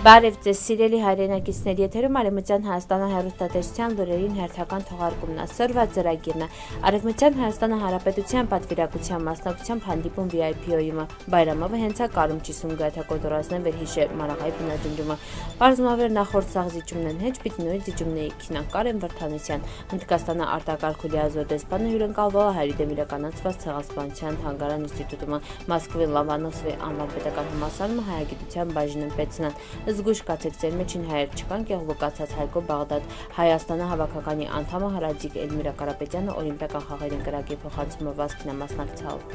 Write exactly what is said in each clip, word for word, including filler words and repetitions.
Բարև ձեզ սիրելի հայրենակիցներ, եթերում Արևմտյան Հայաստանը հեռուստատեսության լուրերին հերթական թողարկումն է, սրված ծրագիրն է, Արևմտյան Հայաստանը Հանրապետության պատվիրակության մասնակցությամբ հանդիպում վի այ պի-ը, Բայրամովը հենց է կարում ճիսում գայթա կոտորածնեն վերհիշե Մարաղայի բնաջնջումը, Պարզմավեր նախորդ սաղ զիջումնեն հեչ պիտ նույն զիջումների քինանկարեն Վրթանեսյան, Հնդկաստանը արտակարգ ազոր դեսպանը հյուրընկալվող հայրդեմիրականացված ցեղասպանության թանգարան ինստիտուտումը, Մոսկվի Լոմոնոսովի անվան պետական համալսարանը հայագիտության բաժինն պետցնան, Զգույշ կացեք ձեր մեջին հայեր չկան կեղլուկացած Հայկո Բաղդադ, Հայաստանը հավաքականի անդամը Հրաձիկ Էլմիրա Կարապետյանը օլիմպիական խաղերին կրակի փոխանցումը վազքին մասնակցալ։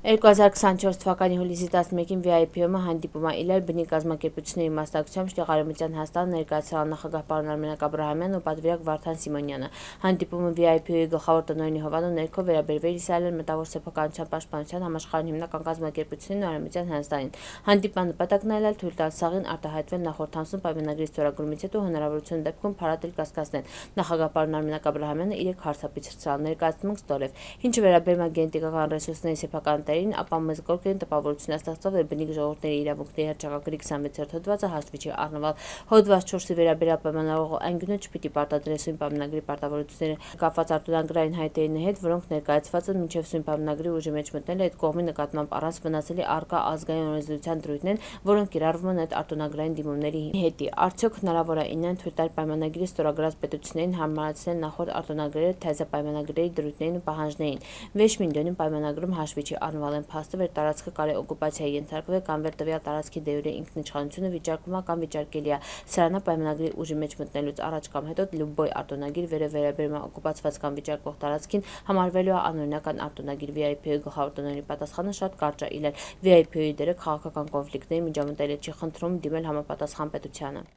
երկու հազար քսանչորս թվականի հուլիսի տասնմեկին վի այ պի-ը հանդիպում է իլել բնի կազմակերպությունների մասնակցությամբ շտեղ Արևմտյան Հայաստան ներկայացրել նախագահ պարոն Արմենակ Աբրահամյանն ու պատվիրակ Վարդան Սիմոնյանը։ Հանդիպումը վի այ պի-ի գլխավոր տնօրենի Հովանու ներքո վերաբերվել Իսրայելյան մտավոր սեփականության պաշտպանության համաշխարհային հիմնական կազմակերպություններին ու Արևմտյան Հայաստանին։ Հանդիպման նպատակն է ելել թույլ տալ սաղին արտահայտվել նախորդ ամսում պայմանագրի ստորագրումից հետո հնարավորություն դեպքում փարատել կասկածներ։ Նախագահ պարոն Արմենակ Աբրահամյանը իրեք հարցապիցրցրալ ներկայացնում ստորև։ Ինչը վերաբերում է գենետիկական ռեսուրսների սեփական ապա մեզ գորգեն տպավորություն է ստեղծվել, որ բնիկ ժողովուրդների իրավունքների հռչակագրի քսանվեցերորդ հոդվածը հաշվի չի առնվել։ Հոդված չորսի վերաբերյալ պայմանավորող անկյունը չպիտի պարտադրի սույն պայմանագրի պարտավորությունները կապված արտոնագրային հայտերին հետ, որոնք ներկայացված են մինչև սույն պայմանագրի ուժի մեջ մտնել այդ կողմի նկատմամբ առանց վնասելի առկա ազգային օրենսդրության դրույթն են, որոնք կիրառվում են այդ արտոնագրային դիմումների հետի։ Արդյոք հնարավոր է ինեն թույլ տալ պայմանագրի ստորագրած պետություններին հարմարացնել նախորդ արտոնագրերը թեզը պայմանագրերի դրույթներին ու պահանջներին։ Վեշ միլիոնին պայմանագրում հաշվի չի առնվել են փաստը, որ տարածքը կարի օկուպացիայի ենթարկվել կամ վեր տվյալ տարածքի դեյուրե ինքնիշխանությունը վիճարկվում է կամ վիճարկելի է։ Սրանա պայմանագրի ուժի մեջ մտնելուց առաջ կամ հետո լյուբոյ արտոնագիր վերը վերաբերում է օկուպացված կամ վիճարկվող տարածքին համարվելու է անօրինական արտոնագիր։ վի այ պի-ի գլխավոր տնօրենի պատասխանը շատ կարճ է իլել։ վի այ պի-ի դերը քաղաքական կոնֆլիկտների միջամտելը չի խնդրում դիմել համապատասխան պետությանը։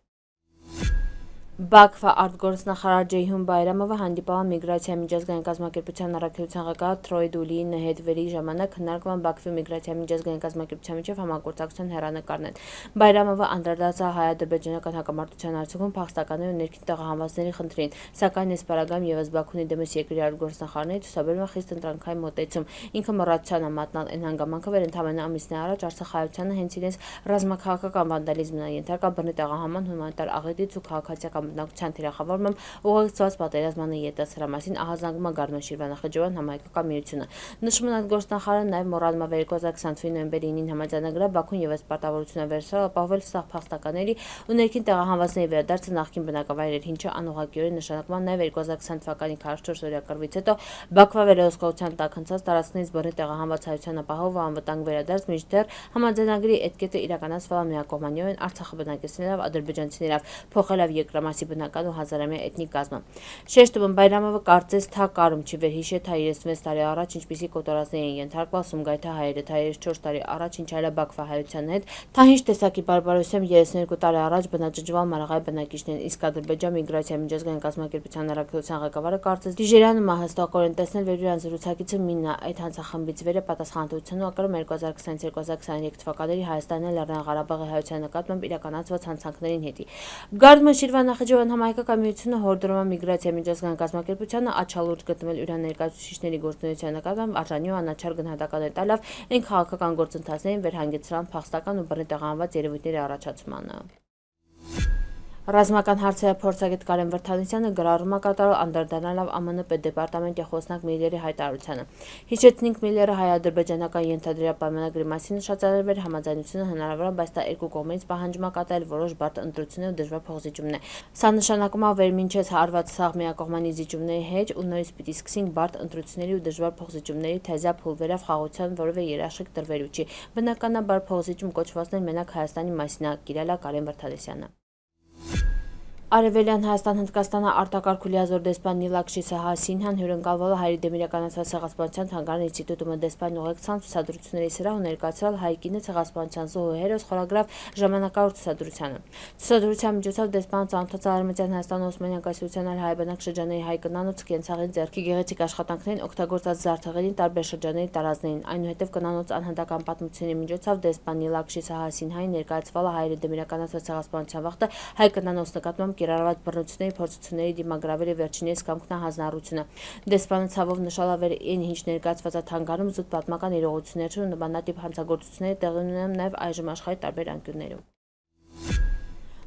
Բաքվա արտգործնախարար Ջեյհուն Բայրամովը հանդիպել է միգրացիա միջազգային կազմակերպության առաքելության ղեկավար Թրոյ Դուլիի հետ վերի ժամանակ քննարկվում են Բաքվի միգրացիա միջազգային կազմակերպության միջև համագործակցության հեռանկարներ։ Բայրամովը անդրադարձել հայ-ադրբեջանական հակամարտության արդյունքում փախստականների ու ներքին տեղահանվածների խնդրին, սակայն այս պարագայում ևս Բաքուն դեմս երկրի արտգործնախարարների ցուցաբերում է խիստ ընտրանքային մոտեցում։ Ինքը մոռացության է մատնալ այն հանգամանքը, որ ընդամենը ամիսներ առաջ Արցախայցյանը հենց իրենց ռազմաքաղաքական վանդալիզմն է ենթարկա բռնի տեղահանման հումանիտար աղետից ու քաղաքացիական բնակության թիրախավորմամբ ուղղակցված պատերազմանը ետաց սրա մասին ահազանգում է Գարնո Շիրվանախճեվան համայնքական միությունը։ Նշվում է արտգործնախարարը նաև մոռանում է երկու հազար քսանթվականի նոյեմբերի ինին համաձայնագրել Բաքուն ևս պարտավորություն է վերցրել ապահովել սահ փախստականների ու ներքին տեղահանվածների վերադարձը նախկին բնակավայրեր, ինչը անուղղակիորեն նշանակում է նաև երկու հազար քսան թվականի քառասունչորս օրյա կռվից հետո Բաքվա վերահսկողության տակ անցած տարածքներից բռնի տեղահանված հայության ապահով ու անվտանգ վերադարձ, մինչդեռ համաձայնագրի այդ կետը իրականացվել է միակողմանիորեն Արցախը բնակեցնելով ադրբեջանցիներով, փոխելով երկրամասի բնական ու հազարամյա էթնիկ կազմը։ Շեշտում Բայրամովը կարծես թա կարում չի վերհիշե թա երեսունվեց տարի առաջ ինչպիսի կոտորածների են ենթարկվել Սումգայիթը հայերը, թա երեսունչորս տարի առաջ ինչ այլ Բաքվա հայության հետ, թա ինչ տեսակի բարբարոսությամբ երեսունյոթ տարի առաջ բնաջնջվել Մարաղայի բնակիչներին, իսկ Ադրբեջան միգրացիա միջազգային կազմակերպության առաքելության ղեկավարը կարծես դիժերանում է հստակորեն տեսնել, որ իրան զրուցակիցը մինն է այդ հանցախմբից վերը պատասխանատվություն ու ակրում երկու հազար քսանից երկու հազար քսաներեք թվականների Հայաստանի Լեռնային Ղարաբաղի հայության նկատմամբ իրականացված հանցանքներին հետի։ Գարնո Շիրվանախճեվան համայնքական միությունը հորդորում է միգրացիա միջազգային կազմակերպությանը աչալուրջ գտնվել իրան ներկայացուցիչների գործունեության նկատմամբ արժանի ու անաչառ գնահատականներ տալով այն քաղաքական գործընթացներին վերհանգեցրան փախստական ու բռնի տեղահանված երևույթների առաջացմանը։ Ռազմական հարցերի փորձագետ Կարեն Վրթանեսյանը գրառում է կատարել անդրադառնալով Ամն պետդեպարտամենտի խոսնակ Միլլերի հայտարարությանը։ Հիշեցնենք Միլլերը հայ-ադրբեջանական ենթադրյալ պայմանագրի մասին նշածարել էր համաձայնությունը հնարավոր է, բայց դա երկու կողմերից պահանջում է կատարել որոշ բարդ ընտրություններ ու դժվար փոխզիջումներ։ Սա նշանակում է, որ մինչև հարված սաղ միակողմանի զիջումների հետ ու նորից պիտի սկսենք բարդ ընտրությունների ու դժվար փոխզիջումների թեզա փուլվերավ խաղաղության որևէ երաշխիք տրվելու չի։ Բնականաբար փոխզիջում կոչվածներ մենակ Հայաստանի մասին է, կիրել է Կարեն Վրթանեսյանը։ Արևելյան Հայաստան Հնդկաստանը արտակարգ ազոր դեսպան Նիլաքշի Սահասինհան հյուրընկալվել է հայրդեմիրականացված ցեղասպանության թանգարան ինստիտուտում դեսպանի ուղեկցան ցուցադրությունների սրահ ու ներկայացրել հայկինը ցեղասպանության զոհու հերոս խորագրավ ժամանակավոր ցուցադրությանը։ Ցուցադրության միջոցով դեսպանը ծանոթացավ Արևմտյան Հայաստանի Օսմանյան կայսրության այլ հայաբնակ շրջանների հայ կնանոց կենցաղին ձեռքի գեղեցիկ աշխատանքներին օգտագործած զարդեղենին տարբեր շրջանների տարազներին, այնուհետև կնանոց անհատական պատմությունների միջոցով դեսպան Նիլաքշի Սահասինհային ներկայացվել է հայրդեմիրականացված ցեղասպանության վաղտը հայ կնանոց նկատմամբ կիրառված բռնությունների փորձությունների դիմագրավերի վերջինիս կամքնա հանձնառությունը։ Դեսպանը ցավով նշել է, որ այն ինչ ներկայացված է թանգարանում զուտ պատմական իրողություններ ու նմանատիպ հանցագործությունները տեղի ունեն նաև այժմ աշխարհի տարբեր անկյուններում։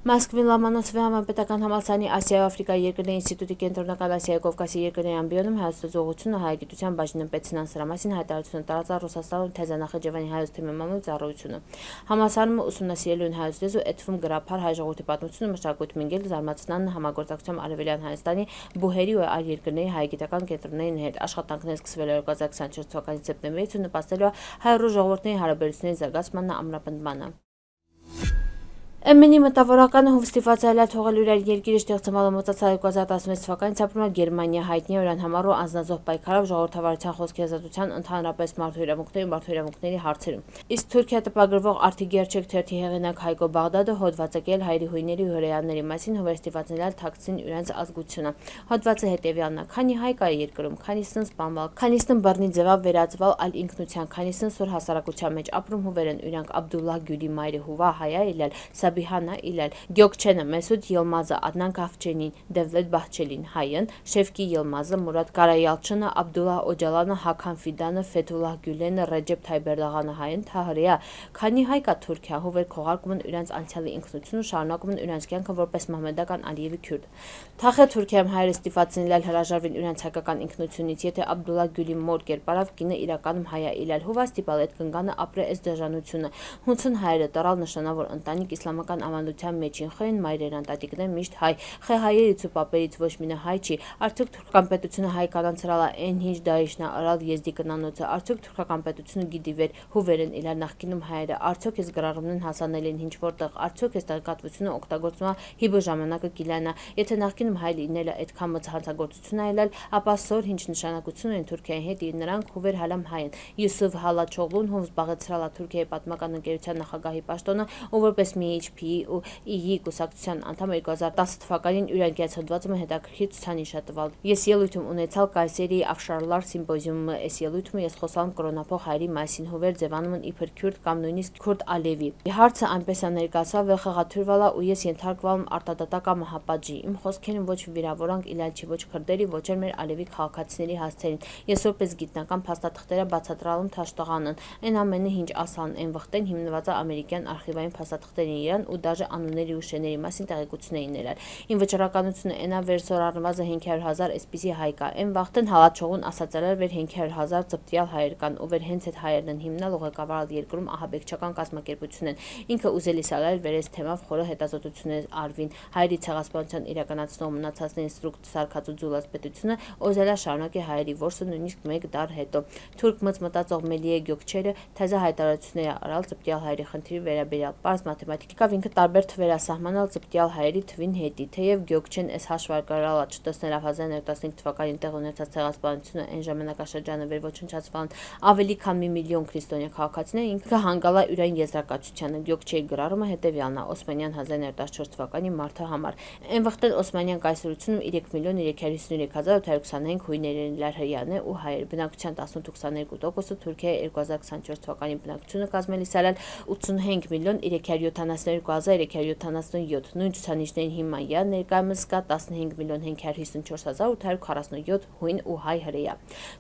Մոսկվի Լոմոնոսովի համապետական համալսարանի Ասիայի ու Աֆրիկայի երկրների ինստիտուտի կենտրոնական Ասիայի Կովկասի երկրների ամբիոնում հայոց դժողությունը հայագիտության բաժին ըմպեցնան սրա մասին հայտարարություն տարածա Ռուսաստանում Թեզանախճեվանի հայոց թեմի մամուլ ծառայությունը։ Համալսարանում ուսումնասիրելու են հայոց լեզու էթվում գրաբար հայ ժողովրդի պատմությունը մշակույթ մինգել զարմացնան համագործակցությամբ Արևելյան Հայաստանի բուհերի ու այլ երկրների հայագիտական կենտրոնների հետ աշխատանքներ սկսվել երկու հազար քսաներկու թվականի սեպտեմբերից ու նպաստելու հայ-ռուս ժողովրդների հարաբերությունների զարգացմանն ու ամրապնդմանը։ Էմենի մտավորականը հովստիված այլալ թողել իր երկիրը ստեղծմալը մոծացալ երկու հազար տասնվեց թվականից ապրում է Գերմանիա հայտնի օրան համար ու անձնազոհ պայքարով ժողովրդավարության խոսքի ազատության ընդհանրապես մարդու իրավունքների ու մարդու իրավունքների հարցերում։ Իսկ Թուրքիա տպագրվող Արդի Գերչեկ թերթի հեղինակ Հայկո Բաղդադը հոդված է կել հայերի հույների ու հրեաների մասին հովստիվածներալ թաքցին իրենց ազգությունը։ Հոդվածը հետևյալն է. քանի հայ կա երկրում, քանիսն սպանվալ, քանիսն բռնի ձևավ վերածվալ այլ ինքնության, քանիսն սուր հասարակության մեջ ապրում հուվերեն իրանք Աբդուլլահ Գյուլի մայրը հուվա հայա իլալ Սաբիհանա իլալ Գյոկչենը Մեսուդ Յılmazը Adnan Kafçenին Devlet Bahçeli'nin հայն Շևկի Յılmazը Մուրադ Կարայալչյանը Աբդուլլահ Օջալանը Հական Ֆիդանը Ֆեթուլլահ Գյուլենը Ռեջեփ Թայիպ Էրդողանը հայն Թահրիա քանի հայ կա Թուրքիա հուվեր քողարկում են իրենց անցյալի ինքնությունը շարունակում են իրենց կյանքը որպես մահմեդական Ալիևի քյուրդ Թախե Թուրքիայում հայերը ստիպվածին հրաժարվին իրենց հայկական ինքնությունից եթե Աբդուլլահ Գյուլի մոր կերպարավ կինը իրականում հայա իլալ հուվա ստիպալ այդ կնգանը ապրե այս դժանությունը հունցուն հայերը տարալ նշանավոր ընտանիք իսլամական ավանդության մեջին խեն մայրերան տատիկներ միշտ հայ խե հայերից ու պապերից ոչ մինը հայ չի արդյոք թուրքական պետությունը հայ կանանցրալա են հինչ դարիշնա արալ եզդի կնանոցը արդյոք թուրքական պետությունը գիտի վեր հուվերեն իլար նախկինում հայերը արդյոք այս գրառումն հասանել են ինչ որտեղ արդյոք այս տեղեկատվությունը օգտագործումը հիբը ժամանակը կիլանա եթե նախկինում հայ լինելը այդքան մցահանցագործություն այլալ ապա սոր ինչ նշանակություն են Թուրքիայի հետ իր նրանք հուվեր հալամ հայ են Յուսուֆ Հալաչօղլուն հով զբաղեցրալա Թուրքիայի պատմական ընկերության նախագահի պաշտոնը ու որպես մի էյչ փի ու ի կուսակցության անդամ երկու հազար տասը թվականին յուրանկյաց հոդվածում հետաքրքիր ցուցանիշ է տվել ես ելույթում ունեցալ Կայսերի Աֆշարլար սիմպոզիումը այս ելույթում ես խոսալամ կրոնափող հայերի մասին հուվեր ձևանում են իբր քյուրդ կամ նույնիսկ քուրդ Ալևի հարցը այնպես է ներկայացավ վեր խաղաթյուրվալա ու ես ենթարկվալım արտադատական մահապատժի իմ խոսքերին ոչ վիրավորանք իլալ չի ոչ քրդերի ոչ էլ մեր Ալևի քաղաքացիների հասցերին ես որպես գիտնական փաստաթղթերը բացատրալım թաշտողանն այն ամենը ինչ ասան այն վխտեն հիմնված է ամերիկյան արխիվային փաստաթղթերին իրան ու դաժե անունների ու շեների մասին տեղեկություն էին ներել ին վճռականությունը այնա վերսոր առնվազն հինգ հարյուր հազար այսպիսի հայ կա այն վախտեն հալաչողուն ասացել էր վեր հինգ հարյուր հազար ծպտյալ հայեր կան ու վեր հենց այդ հայերն են հիմնալ ու ղեկավարալ երկրում ահաբեկչական կազմակերպություն են ինքը ուզելի սալալ վերես թեմավ խորը հետազոտություններ արվին հայերի ցեղասպանության իրականացնող մնացածների ինստրուկտ Սարգսու Ձուլաց պետությունը օզելա շարունակի հայերի որսը նույնիսկ մեկ դար հետո թուրք մծ մտածող Մելիե Գյոկչերը թեզա հայտարարություններ արալ ծպտյալ հայերի խնդիրի վերաբերյալ պարզ մաթեմատիկավ ինքը տարբեր թվեր ասահմանալ ծպտյալ հայերի թվին հետի թեև Գյոկչեն այս հաշվարկարալը չտեսնելով հազար նորը տասնհինգ թվականին տեղ ունեցած ցեղասպանությունը այն ժամանակաշրջանը վեր ոչնչացվան ավելի քան մի միլիոն քրիստոնյա քաղաքացիներ ինքը հանգալա յուրային եզրակացությանը Գյոկչեի գրառումը հետևյալն է Օսմանյան հազար նորը տասնչորս թվականի մարտի համար այն վխտել Օսմանյան կայսրությունում երեք միլիոն երեք հարյուր հիսունյոթ հազար ութ հարյուր քսանհինգ հույներն լար հրեաներ ու հայեր բնակչության տասնութ ու քսաներկու տոկոսը Թուրքիայի երկու հազար քսանչորս թվականի բնակչությունը կազմել իսալալ ութսունհինգ միլիոն երեք հարյուր յոթանասունյոթ հազար երեք հարյուր յոթանասունյոթ նույն ցուցանիշներին հիման յա ներկայումս կա տասնհինգ միլիոն հինգ հարյուր հիսունչորս հազար ութ հարյուր քառասունյոթ հույն ու հայ հրեա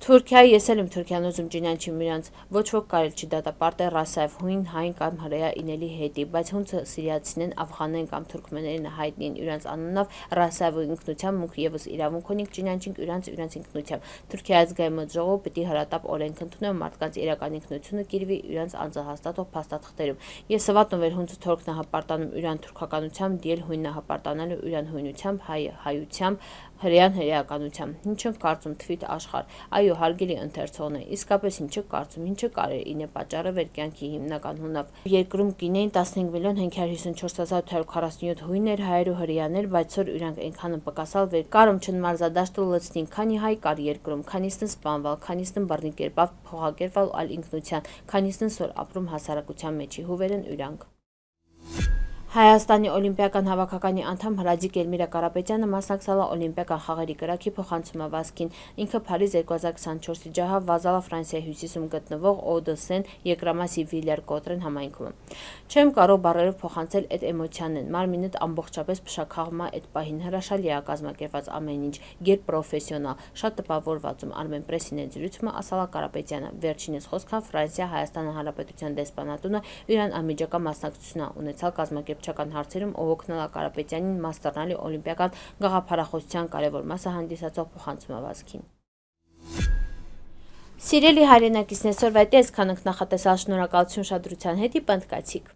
Թուրքիայի ես էլ եմ Թուրքիան ուզում ճինանչի միրանց ոչ ոք կարել չի դատապարտել ռասայով հույն հայն կամ հրեա ինելի հետի բայց հունցը սիրիացին են աֆղանեն կամ թուրքմեներին հայտնի են իրանց անունով ռասայով ինքնության մուք եւս իրավունք ունենք ճինանչինք իրանց իրանց ինքնությամբ Թուրքիայի ազգային ժողովը պիտի հրատապ օրենք ընդունեն մարդկանց իրական ինքնությունը կիրվի իրանց անձահաստատող փաստաթղթերում ես սվատն վեր հունցը թուրքն հապարտանում իրան թուրքականությամբ դիել հույնը հապարտանալու իրան հույնությամբ հայ հայությամբ հրեան հրեականությամբ ինչը կարծում թվիթ աշխարհ այո հարգելի ընթերցողն է իսկապես ինչը կարծում ինչը կարեր ինե պատճառը վեր կյանքի հիմնական հունավ երկրում կինեին տասնհինգ միլիոն հինգ հարյուր հիսունչորս հազար ութ հարյուր քառասունյոթ հույներ հայեր ու հրեաներ բայց որ իրանք այնքան պակասալ վեր կարում չնմարզադաշտը լցնին քանի հայ կար երկրում քանիսն սպանվալ քանիսն բռնի կերպավ փողակերպալ այլ ինքնության քանիսն սոր ապրում հասարակության մեջի հուվերեն իրանք Հայաստանի օլիմպիական հավաքականի անդամ Հրաձիկ Էլմիրա Կարապետյանը մասնակցել է օլիմպիական խաղերի կրակի փոխանցումավազքին ինքը Փարիզ երկու հազար քսանչորսի ջահավ վազալա Ֆրանսիայի հյուսիսում գտնվող Օդեսեն Եկրամասի Վիլեր Կոտրեն համայնքում Չեմ կարող բառերով փոխանցել այդ էմոցիաներն մարմինդ ամբողջապես փշաքաղվում է այդ պահին հրաշալի է կազմակերպված ամեն ինչ գեր պրոֆեսիոնալ շատ տպավորվածում Armen Press-ին զրույցը ասալա Կարապետյանը վերջինս խոսքան Ֆրանսիա Հայաստան Հանրապետության դեսպանատունը իրան անմիջական մասնակցություն ունեցալ կազմակերպ կրթչական հարցերում Օհոք Կարապետյանին մաս դառնալի օլիմպիական գաղափարախոսության կարևոր մասը հանդիսացող փոխանցում է Վազգին։ Սիրելի հայրենակիցներ, այսօրվա հետ այսքանը նախատեսած, շնորհակալություն ուշադրության հետ, պնդկացիք։